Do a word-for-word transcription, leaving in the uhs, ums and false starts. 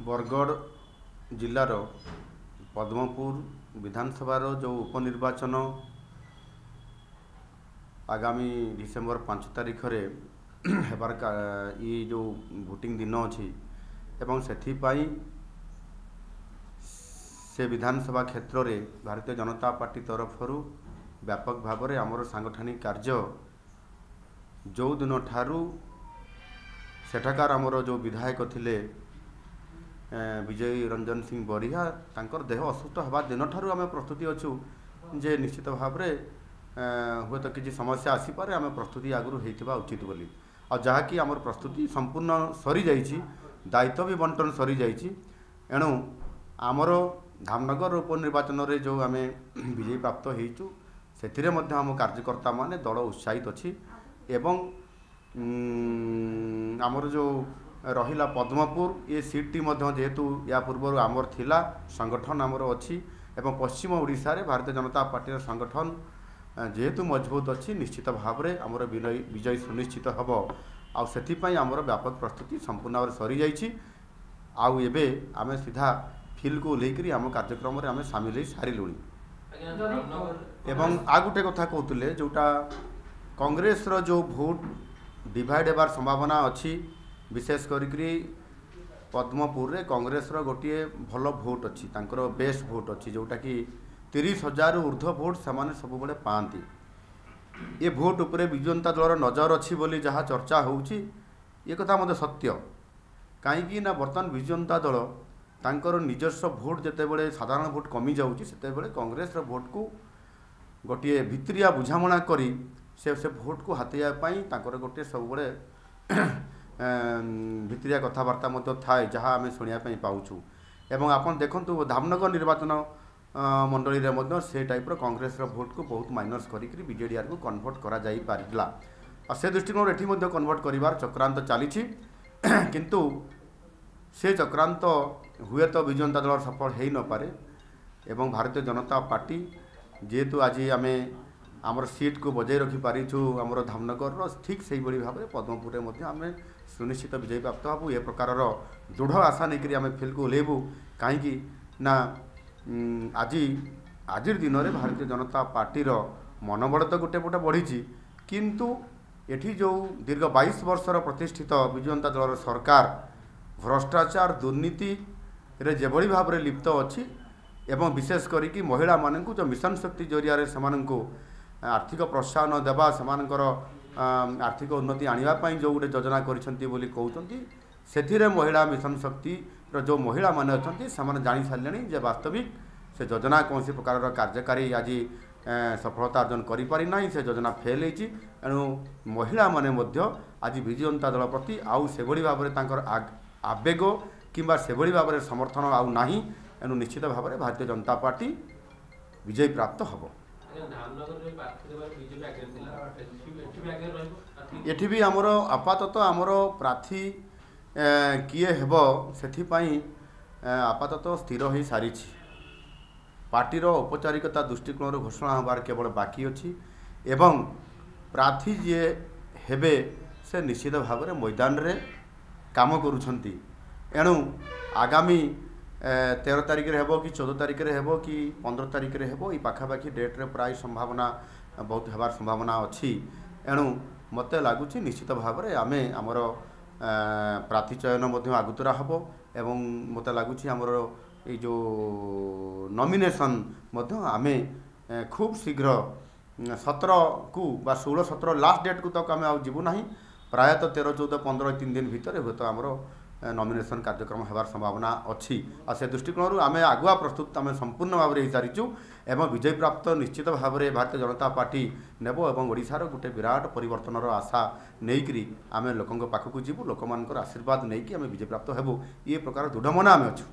ବରଗଡ଼ ଜିଲ୍ଲାର ପଦ୍ମପୁର ବିଧାନସଭାର ଯେଉଁ ଉପନିର୍ବାଚନ ଆଗାମୀ ଡିସେମ୍ବର ପାଞ୍ଚ ତାରିଖରେ ହେବାର ଇ ଯେଉଁ ଭୋଟିଂ ଦିନ ଅଛି ଏବଂ ସେଥିପାଇଁ ସେ ବିଧାନସଭା କ୍ଷେତ୍ରରେ ଭାରତୀୟ ଜନତା ପାର୍ଟି ତରଫରୁ ବ୍ୟାପକ ଭାବରେ ଆମର ସାଂଗଠନିକ କାର୍ଯ୍ୟ ଯେଉଁ ଦିନଠାରୁ ସେଠାକାର ଆମର ଯେଉଁ ବିଧାୟକ ଥିଲେ ବିଜୟ ରଞ୍ଜନ ସିଂ ବରିହା, ତାଙ୍କର ଦେହ ଅସୁସ୍ଥ ହେବା ଦିନଠାରୁ ଆମେ ପ୍ରସ୍ତୁତି ଅଛୁ ଯେ ନିଶ୍ଚିତ ଭାବରେ ହୁଏତ କିଛି ସମସ୍ୟା ଆସିପାରେ, ଆମେ ପ୍ରସ୍ତୁତି ଆଗରୁ ହେଇଥିବା ଉଚିତ ବୋଲି। ଆଉ ଯାହାକି ଆମର ପ୍ରସ୍ତୁତି ସମ୍ପୂର୍ଣ୍ଣ ସରିଯାଇଛି, ଦାୟିତ୍ୱ ବି ବଣ୍ଟନ ସରିଯାଇଛି। ଏଣୁ ଆମର ଧାମନଗର ଉପନିର୍ବାଚନରେ ଯେଉଁ ଆମେ ବିଜୟୀ ପ୍ରାପ୍ତ ହେଇଛୁ, ସେଥିରେ ମଧ୍ୟ ଆମ କାର୍ଯ୍ୟକର୍ତ୍ତାମାନେ ଦଳ ଉତ୍ସାହିତ ଅଛି। ଏବଂ ଆମର ଯେଉଁ ରହିଲା ପଦ୍ମପୁର, ଏ ସିଟ୍ଟି ମଧ୍ୟ ଯେହେତୁ ୟା ପୂର୍ବରୁ ଆମର ଥିଲା, ସଂଗଠନ ଆମର ଅଛି ଏବଂ ପଶ୍ଚିମ ଓଡ଼ିଶାରେ ଭାରତୀୟ ଜନତା ପାର୍ଟିର ସଂଗଠନ ଯେହେତୁ ମଜବୁତ ଅଛି, ନିଶ୍ଚିତ ଭାବରେ ଆମର ବିଜୟ ସୁନିଶ୍ଚିତ ହେବ। ଆଉ ସେଥିପାଇଁ ଆମର ବ୍ୟାପକ ପ୍ରସ୍ତୁତି ସମ୍ପୂର୍ଣ୍ଣ ଭାବରେ ସରିଯାଇଛି। ଆଉ ଏବେ ଆମେ ସିଧା ଫିଲ୍ଡକୁ ଓହ୍ଲେଇକରି ଆମ କାର୍ଯ୍ୟକ୍ରମରେ ଆମେ ସାମିଲ ହେଇ ସାରିଲୁଣି। ଏବଂ ଆଉ ଗୋଟେ କଥା କହୁଥିଲେ, ଯେଉଁଟା କଂଗ୍ରେସର ଯେଉଁ ଭୋଟ ଡିଭାଇଡ଼ ହେବାର ସମ୍ଭାବନା ଅଛି, ବିଶେଷ କରିକିରି ପଦ୍ମପୁରରେ କଂଗ୍ରେସର ଗୋଟିଏ ଭଲ ଭୋଟ ଅଛି, ତାଙ୍କର ବେଷ୍ଟ ଭୋଟ ଅଛି, ଯେଉଁଟାକି ତିରିଶ ହଜାରରୁ ଉର୍ଦ୍ଧ୍ୱ ଭୋଟ ସେମାନେ ସବୁବେଳେ ପାଆନ୍ତି। ଏ ଭୋଟ ଉପରେ ବିଜୁ ଜନତା ଦଳର ନଜର ଅଛି ବୋଲି ଯାହା ଚର୍ଚ୍ଚା ହେଉଛି, ଏ କଥା ମଧ୍ୟ ସତ୍ୟ। କାହିଁକି ନା ବର୍ତ୍ତମାନ ବିଜୁ ଜନତା ଦଳ ତାଙ୍କର ନିଜସ୍ୱ ଭୋଟ ଯେତେବେଳେ ସାଧାରଣ ଭୋଟ କମିଯାଉଛି, ସେତେବେଳେ କଂଗ୍ରେସର ଭୋଟକୁ ଗୋଟିଏ ଭିତରିଆ ବୁଝାମଣା କରି ସେ ସେ ଭୋଟକୁ ହାତେଇବା ପାଇଁ ତାଙ୍କର ଗୋଟିଏ ସବୁବେଳେ ଭିତରିଆ କଥାବାର୍ତ୍ତା ମଧ୍ୟ ଥାଏ, ଯାହା ଆମେ ଶୁଣିବା ପାଇଁ ପାଉଛୁ। ଏବଂ ଆପଣ ଦେଖନ୍ତୁ, ଧାମନଗର ନିର୍ବାଚନ ମଣ୍ଡଳୀରେ ମଧ୍ୟ ସେ ଟାଇପ୍ର କଂଗ୍ରେସର ଭୋଟକୁ ବହୁତ ମାଇନସ୍ କରିକିରି ବିଜେଡ଼ି ଆଡ଼କୁ କନଭର୍ଟ କରାଯାଇପାରିଥିଲା। ଆଉ ସେ ଦୃଷ୍ଟିକୋଣରୁ ଏଠି ମଧ୍ୟ କନଭର୍ଟ କରିବାର ଚକ୍ରାନ୍ତ ଚାଲିଛି, କିନ୍ତୁ ସେ ଚକ୍ରାନ୍ତ ହୁଏତ ବିଜୁ ଜନତା ଦଳର ସଫଳ ହେଇନପାରେ। ଏବଂ ଭାରତୀୟ ଜନତା ପାର୍ଟି ଯେହେତୁ ଆଜି ଆମେ ଆମର ସିଟ୍କୁ ବଜାଇ ରଖିପାରିଛୁ ଆମର ଧାମନଗରର, ଠିକ୍ ସେଇଭଳି ଭାବରେ ପଦ୍ମପୁରରେ ମଧ୍ୟ ଆମେ ସୁନିଶ୍ଚିତ ବିଜୟୀ ପ୍ରାପ୍ତ ହେବୁ। ଏ ପ୍ରକାରର ଦୃଢ଼ ଆଶା ନେଇକରି ଆମେ ଫିଲ୍ଡକୁ ଓହ୍ଲେଇବୁ। କାହିଁକି ନା ଆଜି ଆଜିର ଦିନରେ ଭାରତୀୟ ଜନତା ପାର୍ଟିର ମନୋବଳ ତ ଗୋଟେ ପଟେ ବଢ଼ିଛି, କିନ୍ତୁ ଏଠି ଯେଉଁ ଦୀର୍ଘ ବାଇଶ ବର୍ଷର ପ୍ରତିଷ୍ଠିତ ବିଜୁ ଜନତା ଦଳର ସରକାର ଭ୍ରଷ୍ଟାଚାର ଦୁର୍ନୀତିରେ ଯେଭଳି ଭାବରେ ଲିପ୍ତ ଅଛି, ଏବଂ ବିଶେଷ କରିକି ମହିଳାମାନଙ୍କୁ ଯେଉଁ ମିଶନ ଶକ୍ତି ଜରିଆରେ ସେମାନଙ୍କୁ ଆର୍ଥିକ ପ୍ରୋତ୍ସାହନ ଦେବା, ସେମାନଙ୍କର ଆର୍ଥିକ ଉନ୍ନତି ଆଣିବା ପାଇଁ ଯେଉଁ ଗୋଟେ ଯୋଜନା କରିଛନ୍ତି ବୋଲି କହୁଛନ୍ତି, ସେଥିରେ ମହିଳା ମିଶନ ଶକ୍ତିର ଯେଉଁ ମହିଳାମାନେ ଅଛନ୍ତି ସେମାନେ ଜାଣି ସାରିଲେଣି ଯେ ବାସ୍ତବିକ ସେ ଯୋଜନା କୌଣସି ପ୍ରକାରର କାର୍ଯ୍ୟକାରୀ ଆଜି ସଫଳତା ଅର୍ଜନ କରିପାରିନାହିଁ, ସେ ଯୋଜନା ଫେଲ୍ ହେଇଛି। ଏଣୁ ମହିଳାମାନେ ମଧ୍ୟ ଆଜି ବିଜୁ ଜନତା ଦଳ ପ୍ରତି ଆଉ ସେଭଳି ଭାବରେ ତାଙ୍କର ଆବେଗ କିମ୍ବା ସେଭଳି ଭାବରେ ସମର୍ଥନ ଆଉ ନାହିଁ। ଏଣୁ ନିଶ୍ଚିତ ଭାବରେ ଭାରତୀୟ ଜନତା ପାର୍ଟି ବିଜୟୀ ପ୍ରାପ୍ତ ହେବ। ଏଠି ବି ଆମର ଆପାତତଃ ଆମର ପ୍ରାର୍ଥୀ କିଏ ହେବ ସେଥିପାଇଁ ଆପାତତଃ ସ୍ଥିର ହୋଇସାରିଛି। ପାର୍ଟିର ଔପଚାରିକତା ଦୃଷ୍ଟିକୋଣରୁ ଘୋଷଣା ହେବାର କେବଳ ବାକି ଅଛି ଏବଂ ପ୍ରାର୍ଥୀ ଯିଏ ହେବେ ସେ ନିଶ୍ଚିତ ଭାବରେ ମଇଦାନରେ କାମ କରୁଛନ୍ତି। ଏଣୁ ଆଗାମୀ ତେର ତାରିଖରେ ହେବ କି ଚଉଦ ତାରିଖରେ ହେବ କି ପନ୍ଦର ତାରିଖରେ ହେବ, ଏଇ ପାଖାପାଖି ଡେଟ୍ରେ ପ୍ରାୟ ସମ୍ଭାବନା ବହୁତ ହେବାର ସମ୍ଭାବନା ଅଛି। ଏଣୁ ମୋତେ ଲାଗୁଛି ନିଶ୍ଚିତ ଭାବରେ ଆମେ ଆମର ପ୍ରାର୍ଥୀ ଚୟନ ମଧ୍ୟ ଆଗତୁରା ହେବ ଏବଂ ମୋତେ ଲାଗୁଛି ଆମର ଏଇ ଯେଉଁ ନମିନେସନ୍ ମଧ୍ୟ ଆମେ ଖୁବ୍ ଶୀଘ୍ର ସତରକୁ ବା ଷୋହଳ ସତର ଲାଷ୍ଟ ଡେଟ୍କୁ ତକ ଆମେ ଆଉ ଯିବୁ ନାହିଁ, ପ୍ରାୟତଃ ତେର ଚଉଦ ପନ୍ଦର ତିନି ଦିନ ଭିତରେ ହୁଏତ ଆମର ନମିନେସନ୍ କାର୍ଯ୍ୟକ୍ରମ ହେବାର ସମ୍ଭାବନା ଅଛି। ଆଉ ସେ ଦୃଷ୍ଟିକୋଣରୁ ଆମେ ଆଗୁଆ ପ୍ରସ୍ତୁତ ଆମେ ସମ୍ପୂର୍ଣ୍ଣ ଭାବରେ ହେଇସାରିଛୁ ଏବଂ ବିଜୟ ପ୍ରାପ୍ତ ନିଶ୍ଚିତ ଭାବରେ ଭାରତୀୟ ଜନତା ପାର୍ଟି ନେବ ଏବଂ ଓଡ଼ିଶାର ଗୋଟେ ବିରାଟ ପରିବର୍ତ୍ତନର ଆଶା ନେଇକରି ଆମେ ଲୋକଙ୍କ ପାଖକୁ ଯିବୁ, ଲୋକମାନଙ୍କର ଆଶୀର୍ବାଦ ନେଇକି ଆମେ ବିଜୟ ପ୍ରାପ୍ତ ହେବୁ, ଇଏ ପ୍ରକାର ଦୃଢ଼ମନା ଆମେ ଅଛୁ।